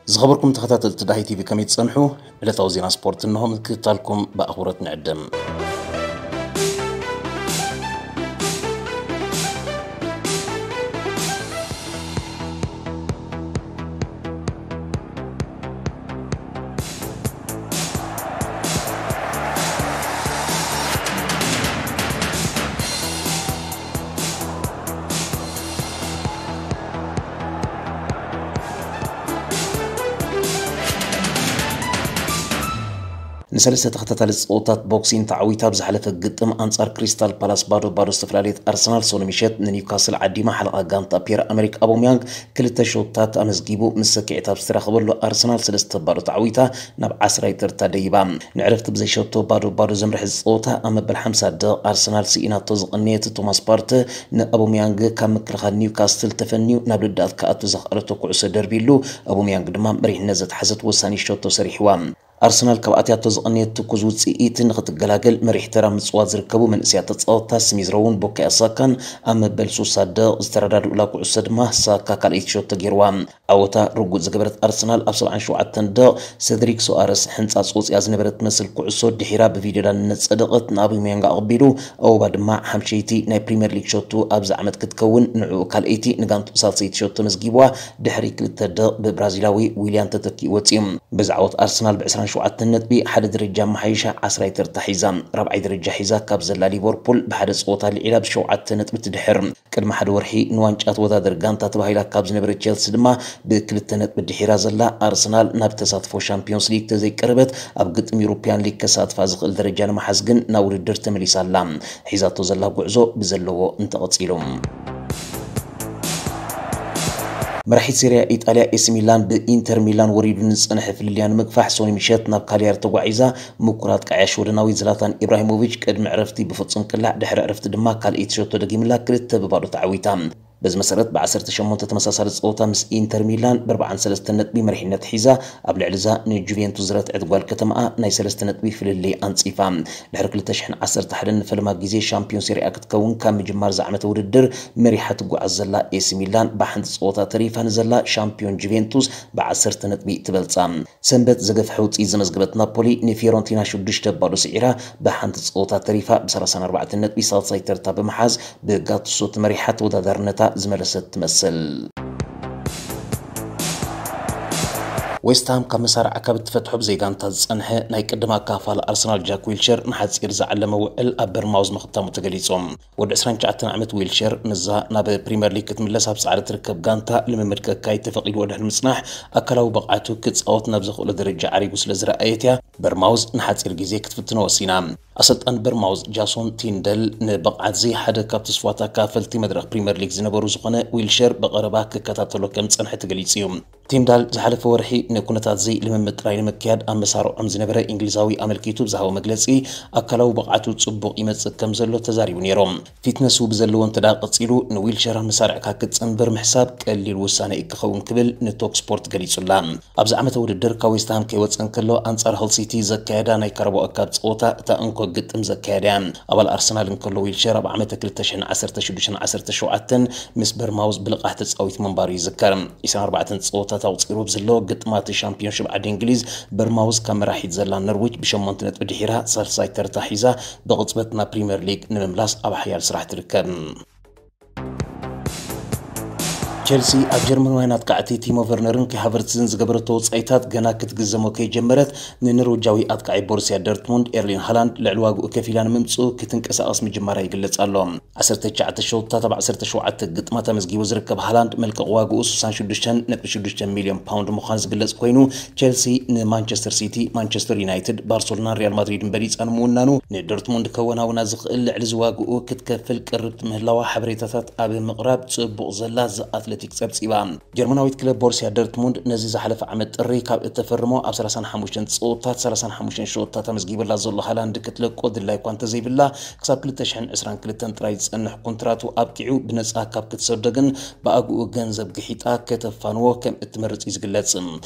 ዝኸበርኩም ተኸታተልቲ ዳሂ ቲቪ ከመይ ትጸንሑ? ዕለታዊ ዜና ስፖርት እንሆ ምክትታልኩም ብኣኽብሮት ንዕድም። ንሰለስተ ተኸታታሊ ጸወታት ቦክሲን ተዓዊታ ኣብ ዝሓለፈ ግጥም ኣንጻር ክሪስታል ፓላስ ባዶ ባዶ ዝተፈላለየት ኣርሰናል፣ ሶኒ ምሸት ንኒውካስል ዓዲማ ሓለቓ ጋንታ ፒየር ኣመሪክ ኣቦምያንግ ክልተ ሾታት ኣመዝጊቡ ምስ ሰኪዐት ኣብ ዝተራኸበሉ ኣርሰናል ሰለስተ ባዶ ተዓዊታ ናብ ዓስራይ ተርታ ደይባ። ንዕረፍቲ ብዘይ ሸቶ ባዶ ባዶ ዘምርሐ ጸወታ ኣብ መበል ሓምሳ ደቕ ኣርሰናል ስኢናቶ ዝቐነየት ቶማስ ፓርተ ንኣቦምያንግ ካብ ምክልኻል ኒውካስትል ተፈንዩ ናብ ልዳት ክኣቱ ዘኽኣለቶ ኩዕሶ ደርቢሉ፣ ኣቦምያንግ ድማ መሪሕነት ዘትሓዘት ወሳኒ ሸቶ ሰሪሕዋ። ኣርሰናል ካብ ኣትያቶ ዝቐነየት ትኩዝ ውጽኢት ንኽትገላገል መሪሕ ተራ ምጽዋት ዝርከቡ መንእሰያት ተጻወትታ ስሚዝ ሮውን ቡካዮ ሳካን ኣብ መበል ሱሳ ደቕ ዝተረዳድኡላ ኩዕሶ ድማ ሳካ ካልኣይቲ ሸቶ ገይርዋ። ዓወታ ርጉጽ ዝገበረት ኣርሰናል ኣብ ሰብዓን ሸውዓተን ደቕ ሰድሪክ ሶኣረስ ሕንጻጽ ወጽያ ዝነበረት ትመስል ኩዕሶ ድሒራ ብቪድዮ ዳንነት ጸደቐት ንኣቦምያንግ ኣቐቢሉ፣ ኣወባ ድማ ሓምሸይቲ ናይ ፕሪምየር ሊግ ሸቱ ኣብዚ ዓመት ክትከውን ንዕኡ ካልኣይቲ ንጋንቱ ሳልሰይቲ ሸቶ መዝጊብዋ ድሕሪ ክልተ ደቕ ብብራዚላዊ ዊልያን ተተኪኡ ወጽዩ። በዚ ዓወት ኣርሰናል ብ ዕስራን ሸውዓተን ነጥቢ ሓደ ደረጃ ኣመሓይሻ ዓስራይ ተርታ ሒዛ ራብዓይ ደረጃ ሒዛ ካብ ዘላ ሊቨርፑል ብሓደ ጸወታ ልዒላ ብሸውዓተ ነጥቢ ትድሕር። ቅድሚ ሓደ ወርሒ ንዋንጫ ተወዳደር ጋንታ ተባሂላ ካብ ዝነበረ ቸልሲ ድማ ብክልተ ነጥቢ ድሒራ ዘላ ኣርሰናል ናብ ተሳትፎ ሻምፒዮንስ ሊግ ተዘይቀረበት ኣብ ግጥም ዩሮፒያን ሊግ ከሳትፋ ዝኽእል ደረጃ ንምሓዝ ግን ናብ ውድድር ተመሊሳ ኣላ። ሒዛቶ ዘላ ጉዕዞ ብዘለዎ እንተቐጺሉ። መራሒት ሴሪያ ኢጣልያ ኤሲ ሚላን ብኢንተር ሚላን ወሪዱ ንዝጸንሐ ፍልልያ ንምግፋሕ ሶኒ ምሸት ናብ ካልያሪ ተጓዒዛ ምኩር ኣጥቃዒ ሽወደናዊ ዝላታን ኢብራሂሞቪች ቅድሚ ዕረፍቲ ብፍጹም ቅላዕ ድሕሪ ዕረፍቲ ድማ ካልኣይቲ ሸቶ ደጊምላ ክልተ ብባዶ ተዓዊታ። በዚ መሰረት ብ ዓሰርተ ሸሞንተ ተመሳሳሊ ጸወታ ምስ ኢንተር ሚላን ብ ኣርባዓን ሰለስተን ነጥቢ መሪሕነት ሒዛ ኣብ ልዕሊ እዛ ንጁቬንቱስ ዝረትዐት ጓል ከተማኣ ናይ ሰለስተ ነጥቢ ፍልልይ ኣንጺፋ። ድሕሪ ክልተ ሽሕን ዓሰርተ ሓደን ንፈለማ ግዜ ሻምፒዮን ሴሪኣ ክትከውን ካብ ምጅማር ዝዓመተ ውድድር መሪሓ ትጓዓዝ ዘላ ኤሲ ሚላን ብሓንቲ ጸወታ ተሪፋ ንዘላ ሻምፒዮን ጁቬንቱስ ብዓሰርተ ነጥቢ ትበልጻ። ሰንበት ዘገፍሐ ውጽኢት ዘመዝገበት ናፖሊ ንፊዮረንቲና ሽዱሽተ ባዶ ስዒራ ብሓንቲ ጸወታ ተሪፋ ብ ሰላሳን ኣርባዕተን ነጥቢ ሳልሳይ ተርታ ብምሓዝ ብጋቱሶ ተመሪሓ ተወዳዳርነታ ዝመለሰት ትመስል። ዌስትሃም ካብ መሳርዓ ካብ እትፈትሖ ብዘይ ጋንታ ዝጸንሐ ናይ ቅድም ኣካፋል ኣርሰናል ጃክ ዊልሸር ንሓጺር ዝዓለመ ውዕል ኣብ በርማውዝ ምኽታሙ ተገሊጹ። ወዲ ዕስራን ትሽዓተን ዓመት ዊልሸር ምስዛ ናብ ፕሪምየር ሊግ ክትምለስ ኣብ ጻዕሪ ትርከብ ጋንታ ልምምድ ከካይድ ተፈቒድዎ ድሕሪ ምጽናሕ ኣካላዊ ብቕዓቱ ክጻወት ናብ ዘኽእሎ ደረጃ ዓሪጉ ስለ ዝረኣየት እያ በርማውዝ ንሓጺር ግዜ ክትፍትኖ ወሲና። ኣሰልጣን በርማውዝ ጃሶን ቲንደል ንብቕዓትዚ ሓደ ካብ ተስፋታት ኣካፈልቲ መድረኽ ፕሪምየር ሊግ ዝነበሩ ዝኾነ ዊልሸር ብቐረባ ክከታተሎ ከም ዝጸንሐ ተገሊጹ እዩ። ቲንዳል ዝሓለፈ ወርሒ ንኩነታትዚ ልምምድ ጥራይ ንምክያድ ኣብ መሳርዖም ዝነበረ እንግሊዛዊ ኣመልኪቱ ብዝሃቦ መግለጺ ኣካላዊ ብቕዓቱ ጽቡቕ ይመጽእ ከም ዘሎ ተዛሪቡ ነይሩ። ፊትነሱ ብዘለዎ እንተ ደኣ ቀጺሉ ንዊልሸር መሳርዕካ ክትጽንብር ምሕሳብ ቀሊል ውሳነ እዩ ክኸውን ክብል ንቶክ ስፖርት ገሊጹላ። ኣብዚ ዓመተ ውድድር ካብ ዌስትሃም ከይወጸ እንከሎ ኣንጻር ሆል ሲቲ ዘካየዳ ናይ ካራባኦ ካፕ ጸወታ እታ እንኮ ግጥም ዘካየዳ እያ። ኣባል ኣርሰናል እንከሎ ዊልሸር ኣብ ዓመተ ክልተ ሽሕን ዓሰርተ ሽዱሽተን ዓሰርተ ሸውዓተን ምስ በርማውዝ ብልቓሕ ተጻዊቱ ምንባሩ ይዝከር። ዕስራን ኣርባዕተን ጸወታት ኣቑጺሩ ኣብ ዘለዎ ግጥማት ሻምፒዮንሺፕ ዓዲ እንግሊዝ በርማውዝ ካብ መራሒት ዘላ ኖርዊች ብሸሞንተ ነጥቢ ድሒራ ሳልሳይ ተርታ ሒዛ ብቕጽበት ናብ ፕሪምየር ሊግ ንምምላስ ኣብ ሓያል ስራሕ ትርከብ። ቸልሲ ኣብ ጀርመናውያን ኣጥቃዕቲ ቲሞ ቨርነርን ካይ ሃቨርትዝን ዝገበረቶ ወጻኢታት ገና ክትግዘሞ ከይጀመረት ንኖርወጃዊ ኣጥቃዒ ቦሩስያ ዶርትሙንድ ኤርሊን ሃላንድ ልዕሊ ዋግኡ ከፊላ ንምምጽኡ ክትንቀሳቐስ ምጅማራ ይግለጽ ኣሎ። ዓሰርተ ትሽዓተ ሸውታት ኣብ ዓሰርተ ሸውዓተ ግጥማት ኣመዝጊቡ ዝርከብ ሃላንድ መልቀቕ ዋግኡ ስሳን ሽዱሽተን ነጥቢ ሽዱሽተ ሚልዮን ፓውንድ ምዃኑ ዝግለጽ ኮይኑ ቸልሲ ንማንቸስተር ሲቲ፣ ማንቸስተር ዩናይትድ፣ ባርሰሎናን ሪያል ማድሪድን በሊጻ ንምውናኑ ንዶርትሙንድ ከወናውና ዝኽእል ልዕሊ ዝዋግኡ ክትከፍል ቅርብቲ ምህላዋ ሓበሬታታት ኣብ ምቕራብ ጽቡቕ ዘላ ዘ ኣትሌቲክ ጸብጺባ። ጀርመናዊት ክለብ ቦሩስያ ዶርትሙንድ ነዚ ዝሓለፈ ዓመት ጥሪ ካብ እተፈርሞ ኣብ ሰላሳን ሓሙሽተን ጸወታት ሰላሳን ሓሙሽተን ሸወታት ኣመዝጊበላ ዘሎ ሃላንድ ክትለቆ ድላይ እኳ እንተዘይብላ ክሳብ ክልተ ሽሕን ዕስራን ክልተን ጥራይ ዝጸንሕ ኮንትራቱ ኣብቂዑ ብነጻ ካብ ክትሰዶ ግን ብኣግኡ ገንዘብ ግሒጣ ከተፋንዎ ከም እትመርጽ እዩ ዝግለጽ።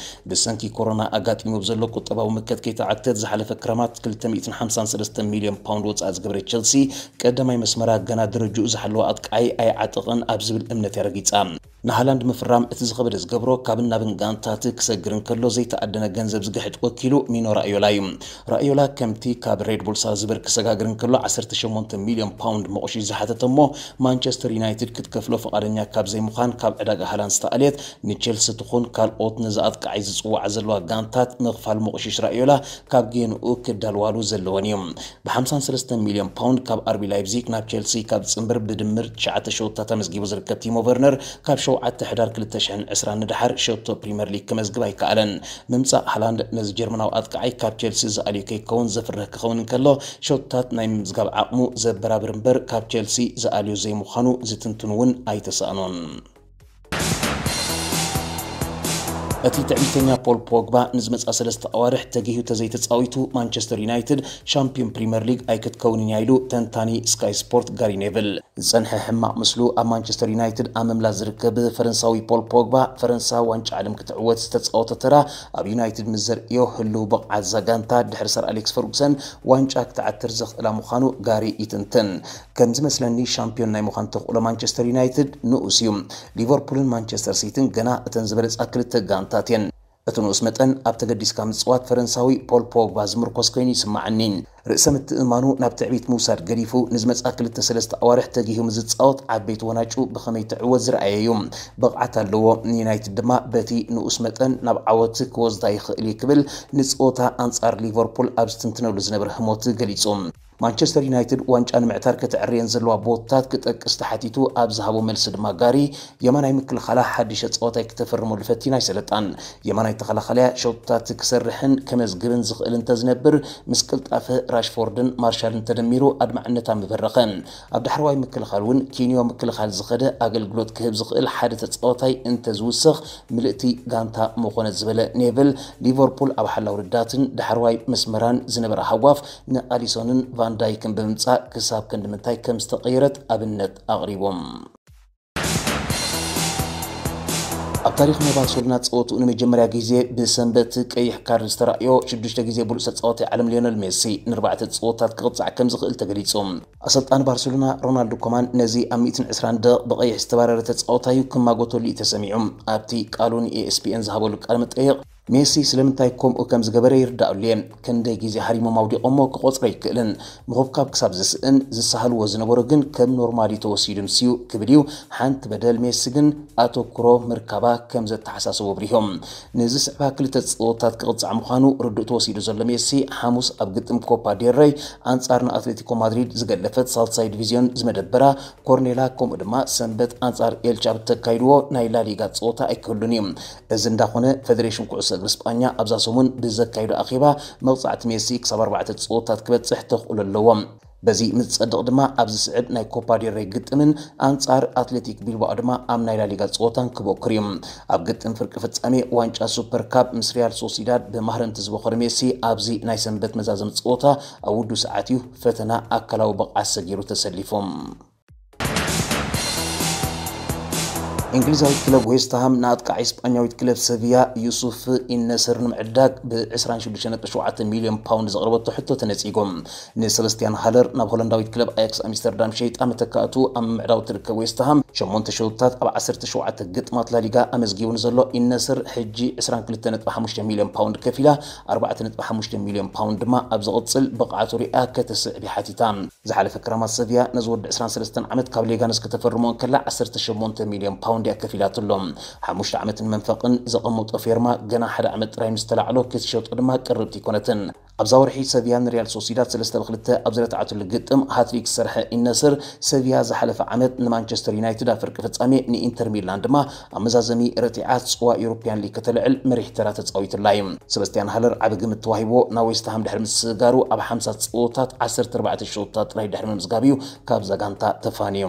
ብሰንኪ ኮሮና ኣጋጢሙ ብዘሎ ቁጠባዊ ምከት ከይተዓግተት ዝሓለፈ ክረማት ክልተ ሚእትን ሓምሳን ሰለስተን ሚልዮን ፓውንድ ወጻኢ ዝገበረ ቸልሲ ቀዳማይ መስመራ ገና ደረጅኡ ዝሓለወ ኣጥቃዓይ ኣይዓጠቐን ኣብ ዝብል እምነት እያ ረጊጻ። ንሃላንድ ምፍራም እቲ ዝኸበደ ዝገብሮ፣ ካብን ናብን ጋንታት ክሰግር እንከሎ ዘይተኣደነ ገንዘብ ዝግሕጥ ወኪሉ ሚኖ ራእዮላ እዩ። ራእዮላ ከምቲ ካብ ሬድ ቡል ሳልዝበርግ ክሰጋግር እንከሎ ዓሰርተ ሸሞንተ ሚልዮን ፓውንድ መቑሺሽ ዝሓተተ እሞ ማንቸስተር ዩናይትድ ክትከፍሎ ፍቓደኛ ካብ ዘይምዃን ካብ ዕዳጋ ሃላንድ ዝተኣልየት ንቼልሲ ትኹን ካልኦት ነዚ ኣጥቃዓይ ዝጽውዓ ዘለዋ ጋንታት ምኽፋል መቑሺሽ ራእዮላ ካብ ጌንኡ ክዳልዋሉ ዘለወን እዩ። ብ53 ሚልዮን ፓውንድ ካብ ኣርቢ ላይፕዚግ ናብ ቼልሲ ካብ ዝጽንብር ብድምር ትሽዓተ ሸወታት ኣመዝጊቡ ዝርከብ ቲሞ ቨርነር ካብ ሸውዓተ ሕዳር ክልተ ሽሕን ዕስራን ንደሓር ሸቶ ፕሪምየር ሊግ ክመዝግብ ኣይከኣለን። ምምጻእ ሃላንድ ነዚ ጀርመናዊ ኣጥቃዓይ ካብ ቼልሲ ዝኣልዩ ከይከውን ዘፍርህ ክኸውን እንከሎ ሸቶታት ናይ ምምዝጋብ ዓቕሙ ዘበራብር እምበር ካብ ቼልሲ ዝኣልዩ ዘይምዃኑ ዝትንትኑ እውን ኣይተሳእኑን። እቲ ትዕቢተኛ ፖል ፖግባ ንዝመጽኣ ሰለስተ ኣዋርሕ ተጊሁ ተዘይተጻዊቱ ማንቸስተር ዩናይትድ ሻምፒዮን ፕሪምየር ሊግ ኣይክትከውንን እያ ኢሉ ተንታኒ ስካይ ስፖርት ጋሪ ኔቭል። ዝጸንሐ ሕማቕ ምስሉ ኣብ ማንቸስተር ዩናይትድ ኣብ ምምላስ ዝርከብ ፈረንሳዊ ፖል ፖግባ ፈረንሳ ዋንጫ ዓለም ክትዕወት ዝተጻወተ ተራ ኣብ ዩናይትድ ምስ ዘርእዮ ህልው ብቕዓት እዛ ጋንታ ድሕሪ ሰር ኣሌክስ ፈርጉሰን ዋንጫ ክትዓትር ዘኽእላ ምዃኑ ጋሪ ይትንትን። ከም ዝመስለኒ ሻምፒዮን ናይ ምዃን ተኽእሎ ማንቸስተር ዩናይትድ ንኡስ እዩ። ሊቨርፑልን ማንቸስተር ሲቲን ገና እተን ዝበለጻ ክልተ ጋንታት እየን። እቲ ንኡስ መጠን ኣብ ተገዲስካ ምጽዋት ፈረንሳዊ ፖል ፖግባ ዝምርኮስ ኮይኑ ይስምዓኒ። ርእሰ ምትእምማኑ ናብ ትዕቢት ምውሳድ ገዲፉ ንዝመጽኣ ክልተ ሰለስተ ኣዋርሕ ተጊሁ ምስ ዝጻወት ዓበይቲ ወናጩ ብኸመይ ትዕወት ዝረኣየ እዩ። ብቕዓት ኣለዎ። ንዩናይትድ ድማ በቲ ንኡስ መጠን ናብ ዓወት ክወስዳ ይኽእል እዩ ክብል ንጸወታ ኣንጻር ሊቨርፑል ኣብ ዝትንትነሉ ዝነበረ ህሞት ገሊጹ። ማንቸስተር ዩናይትድ ዋንጫ ንምዕታር ከተዕርየን ዘለዋ ቦታታት ክጠቅስ ተሓቲቱ ኣብ ዝሃቦ መልሲ ድማ ጋሪ የማናይ ምክልኻላ ሓድሽ ተጻዋታይ ክተፈርመሉ ፈቲና ኣይሰለጣን። የማናይ ተኸላኻሊያ ሸቶታት ክሰርሕን ከመዝግብን ዝኽእል እንተዝነብር ምስ ቅልጣፈ ራሽፎርድን ማርሻልን ተደሚሩ ኣድማዕነታ ምበረኸ። ኣብ ዳሕረዋይ ምክልኻል እውን ኪንዮ ምክልኻል ዝኸደ ኣገልግሎት ክህብ ዝኽእል ሓደ ተጻዋታይ እንተዝውሰኽ ምልእቲ ጋንታ ምኾነት ዝበለ ኔቭል ሊቨርፑል ኣብ ሓላው ርዳትን ዳሕረዋይ መስመራን ዝነበረ ሃጓፍ ንኣሊሶንን ቫንዳይክን ብምምጻእ ክሳብ ክንዲ ምንታይ ከም ዝተቐየረት ኣብነት ኣቕሪቦም። ኣብ ታሪኽ ናይ ባርሰሎና ጸወትኡ ንመጀመርያ ግዜ ብሰንበት ቀይሕ ካርድ ዝተራእዮ ሽዱሽተ ግዜ ብሉጽ ተጻዋታይ ዓለም ሊዮነል ሜሲ ንኣርባዕተ ጸወታት ክቕጻዕ ከም ዝኽእል ተገሊጹ። ኣሰልጣኒ ባርሰሎና ሮናልዶ ኮማን ነዚ ኣብ ሚእትን ዕስራን ደቂቕ ብቐይሕ ዝተባረረ ተጻዋታዩ ክማጎተሉ እዩ ተሰሚዑ። ኣብቲ ቃሉ ንኤስፒኤን ዝሃበሉ ቃለ መጠይቕ ሜሲ ስለምንታይ ከምኡ ከም ዝገበረ ይርዳኣሉ እየ። ክንደይ ግዜ ሃሪሞም ኣውዲቖሞ ክቖጽሮ ኣይክእልን። ምኹብካብ ክሳብ ዝስእን ዝሳሃልዎ ዝነበሩ ግን ከም ኖርማል እዩ ተወሲዱ ምስዩ ክብል እዩ። ሓንቲ በደል ሜሲ ግን ኣተኩሮ ምርካባ ከም ዘተሓሳስቦ ኣብሪሆም። ንዝስዕባ ክልተ ጸወታት ክቕጻዕ ምዃኑ ርዱእ ተወሲዱ ዘሎ ሜሲ ሓሙስ ኣብ ግጥም ኮፓ ዴል ረይ ኣንጻር ንኣትሌቲኮ ማድሪድ ዝገለፈት ሳልሳይ ዲቪዝዮን ዝመደበራ ኮርኔላ ከምኡ ድማ ሰንበት ኣንጻር ኤልቻ ብተካይድዎ ናይ ላሊጋ ጸወታ ኣይክህሉን እዩ። እዚ እንዳኾነ ፌደሬሽን ኩዕሶ እግሪ ስጳኛ ኣብዛ ሰሙን ብዘካይዶ ኣኼባ መቕጻዕቲ ሜሲ ክሳብ ኣርባዕተ ጸወታት ክበጽሕ ተኽእሎ ኣለዎ። በዚ ምስ ዝጸድቕ ድማ ኣብ ዝስዕብ ናይ ኮፓ ዴል ሬይ ግጥምን ኣንጻር ኣትሌቲክ ቢልባኦ ድማ ኣብ ናይ ላሊጋ ጸወታን ክበኩር እዩ። ኣብ ግጥም ፍርቂ ፍጻሜ ዋንጫ ሱፐር ካፕ ምስ ሪያል ሶሲዳድ ብማህረምቲ ዝበኾረ ሜሲ ኣብዚ ናይ ሰንበት መዛዘሚ ጸወታ ኣብ ውዱ ሰዓት እዩ ፈተና ኣካላዊ ብቕዓት ሰጊሩ ተሰሊፉ። እንግሊዛዊት ክለብ ዌስትሃም ንኣጥቃዓይ ስጳኛዊት ክለብ ሰቪያ ዩሱፍ ኢነስር ንምዕዳግ ብ ዕስራን ሽዱሽተን ነጥቢ ሸውዓተ ሚልዮን ፓውንድ ዘቕረበቶ ሕቶ ተነጺጉ። ንሰበስቲያን ሃለር ናብ ሆላንዳዊት ክለብ ኣያክስ ኣምስተርዳም ሸይጣ መተካእቱ ኣብ ምምዕዳው ትርከብ ዌስትሃም ሸሞንተ ሸውታት ኣብ ዓሰርተ ሸውዓተ ግጥማት ላሊጋ ኣመዝጊቡ ንዘሎ ኢነስር ሕጂ ዕስራን ክልተ ነጥቢ ሓሙሽተ ሚልዮን ፓውንድ ከፊላ ኣርባዕተ ነጥቢ ሓሙሽተ ሚልዮን ፓውንድ ድማ ኣብ ዝቕጽል ብቕዓቱ ሪኣ ከተስዕብ ሓቲታ። ዝሓለፈ ክረማት ሰቪያ ነዚ ወዲ ዕስራን ሰለስተን ዓመት ካብ ሌጋነስ ከተፈርሞ እንከላ ዓሰርተ ሸሞንተ ሚልዮን ፓውንድ እያ ከፊላትሎም። ሓሙሽተ ዓመትን መንፈቕን ዘቐመጦ ፌርማ ገና ሓደ ዓመት ጥራይ ምስ ተላዕሎ ክትሸጦ ድማ ቅርብቲ ኣይኮነትን። ኣብዛ ወርሒ ሰቪያ ንሪያል ሶሲዳድ ሰለስተ ብክልተ ኣብ ዝረትዓትሉ ግጥም ሃትሪክ ዝሰርሐ ኢነስር ሰቪያ ዝሓለፈ ዓመት ንማንቸስተር ዩናይትድ ኣብ ፍርቂ ፍጻሜ ንኢንተር ሚላን ድማ ኣብ መዛዘሚ ረቲዓ ጽዋ ዩሮፕያን ሊግ ከተልዕል መሪሕ ተራ ተጻዊትላ እዩ። ሰበስቲያን ሃለር ዓቢ ግምት ተዋሂብዎ ናብ ዌስትሃም ድሕሪ ምስግጋሩ ኣብ ሓምሳ ጸወታት ዓሰርተ ኣርባዕተ ሸቶታት ጥራይ ድሕሪ ምምዝጋብ እዩ ካብዛ ጋንታ ተፋንዩ።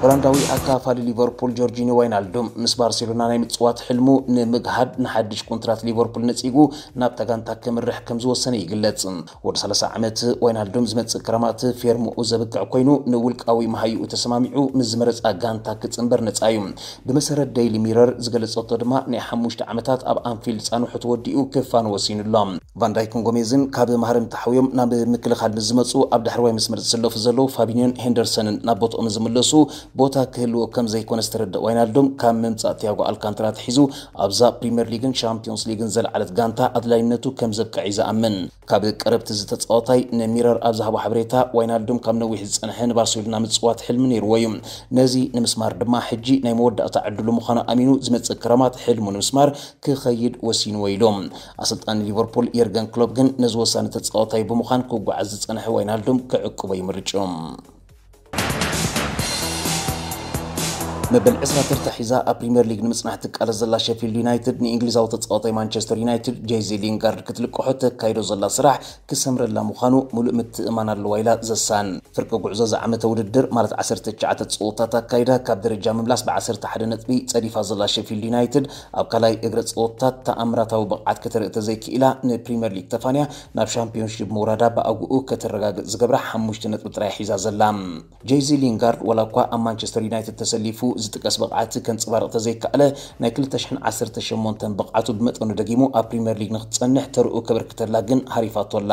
ሆላንዳዊ ኣካፋሊ ሊቨርፑል ጆርጂኒ ዋይናልዱም ምስ ባርሴሎና ናይ ምጽዋት ሕልሙ ንምግሃድ ንሓድሽ ኮንትራት ሊቨርፑል ነጺጉ ናብታ ጋንታ ክምርሕ ከም ዝወሰነ ይግለጽ። ወዲ ሰላሳ ዓመት ዋይናልዱም ዝመጽእ ክረማት ፌርምኡ ዘብቅዕ ኮይኑ ንውልቃዊ መሃይኡ ተሰማሚዑ ምስ ዝመረጻ ጋንታ ክጽንበር ነጻ እዩ። ብመሰረት ዴይሊ ሚረር ዝገለጸቶ ድማ ናይ ሓሙሽተ ዓመታት ኣብ ኣንፊልድ ጻንሑ ተወዲኡ ክፋን ወሲኑ ኣሎ። ቫንዳይክን ጎሜዝን ካብ ማህረም ተሓውዮም ናብ ምክልኻል ምስ ዝመጹ ኣብ ዳሕረዋይ መስመር ዝስለፉ ዘለዉ ፋቢኒዮን ሄንደርሰንን ናብ ቦትኦም ዝምለሱ ቦታ ክህልዎ ከም ዘይኮነ ዝተረድእ ዋይናልዶም ካብ ምምጻእ ቲያጎ ኣልካንትራ ኣትሒዙ ኣብዛ ፕሪምየር ሊግን ሻምፒዮንስ ሊግን ዘለዓለት ጋንታ ኣድላይነቱ ከም ዘብቅዕ እዩ ዝኣምን። ካብ ቀረብቲ እዚ ተጻዋታይ ንሚረር ኣብ ዝሃቦ ሓበሬታ ዋይናልዶም ካብ ነዊሕ ዝጸንሐ ንባርሴሎና ምጽዋት ሕልሚ ነይርዎ እዩ። ነዚ ንምስማር ድማ ሕጂ ናይ መወዳእታ ዕድሉ ምዃኑ ኣሚኑ ዝመጽእ ክረማት ሕልሙ ንምስማር ክኸይድ ወሲንዎ ኢሉ። ኣሰልጣኒ ሊቨርፑል የርገን ክሎፕ ግን ነዚ ወሳኒ ተጻዋታይ ብምዃን ክጓዓዝ ዝጸንሐ ዋይናልዶም ክዕቅቦ ይምርጭ። መበል ዕስራ ተርታ ሒዛ ኣብ ፕሪምየር ሊግ ንምጽናሕ ትቃለስ ዘላ ሸፊልድ ዩናይትድ ንእንግሊዛዊ ተጻዋታይ ማንቸስተር ዩናይትድ ጄዚ ሊንጋርድ ክትልቅሖ ተካይዶ ዘላ ስራሕ ክሰምረላ ምዃኑ ሙሉእ ምትእማን ኣለዋ ኢላ ዘሳን። ፍርቂ ጉዕዞ ዝዓመተ ውድድር ማለት ዓሰርተ ትሽዓተ ጸወታት ኣካይዳ ካብ ደረጃ ምምላስ ብ ዓሰርተ ሓደ ነጥቢ ጸዲፋ ዘላ ሸፊልድ ዩናይትድ ኣብ ካልኣይ እግረ ጸወታት ተኣምራታዊ ብቕዓት ከተርኢ ተዘይክኢላ ንፕሪምየር ሊግ ተፋንያ ናብ ሻምፒዮንሺፕ ምውራዳ ብኣግኡ ከተረጋግጽ ዝገብራ ሓሙሽተ ነጥቢ ጥራይ ሒዛ ዘላ። ጄዚ ሊንጋርድ ዋላ እኳ ኣብ ማንቸስተር ዩናይትድ ተሰሊፉ ዝጥቀስ ብቕዓት ከንጸባርቕ ተዘይከኣለ ናይ ክልተ ሽሕን ዓሰርተ ሸሞንተን ብቕዓቱ ብመጠኑ ደጊሙ ኣብ ፕሪምየር ሊግ ንክትጸንሕ ተርኡ ከበርክተላ ግን ሃሪፋቶ ኣላ።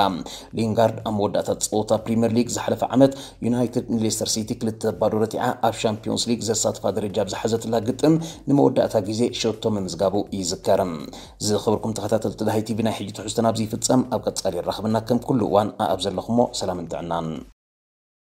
ሊንጋርድ ኣብ መወዳእታ ጸወታ ፕሪምየር ሊግ ዝሓለፈ ዓመት ዩናይትድ ንሌስተር ሲቲ ክልተ ባዶ ረቲዓ ኣብ ሻምፒዮንስ ሊግ ዘሳትፋ ደረጃ ብዝሓዘትላ ግጥም ንመወዳእታ ግዜ ሸቶ ምምዝጋቡ ይዝከር። ዝኸበርኩም ተኸታተልቲ ዳሃይ ቲቪ ናይ ሕጂ ትሕዝቶና ኣብዚ ይፍጸም። ኣብ ቀጻሊ የራኽበና። ከም ኩሉ እዋን ኣብ ዘለኹሞ ሰላምን ጥዕናን።